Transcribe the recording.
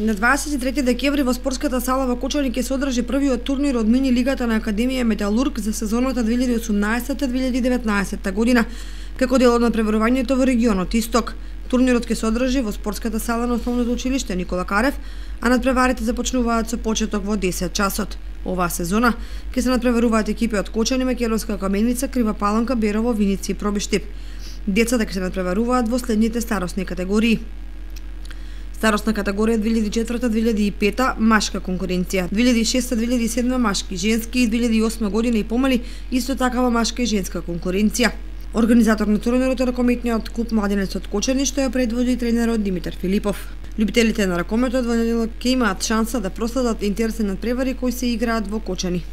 На 23 декември во спортската сала во Кочани ќе се одржи првиот турнир од мини лигата на Академија Металург за сезоната 2018-2019 година, како дел од надпреварувањето во регионот Исток. Турнирот ќе се одржи во спортската сала на основното училиште Никола Карев, а надпреварите започнуваат со почеток во 10 часот. Оваа сезона ќе се надпреваруваат екипи од Кочани, Македонска Каменица, Крива Паланка, Берово, Виници и Пробиштип. Децата ќе се надпреваруваат во следните старосни категории. Старосна категорија 2004-2005 машка конкуренција, 2006-2007 машки, женски и 2008 година и помали исто такава машка и женска конкуренција. Организатор на турнирот е ракометниот клуб Младенец од Кочани, што ја предводи тренерот Димитар Филипов. Љубителите на ракометот во неделя ќе имаат шанса да проследат интересни надпревари кои се играат во Кочани.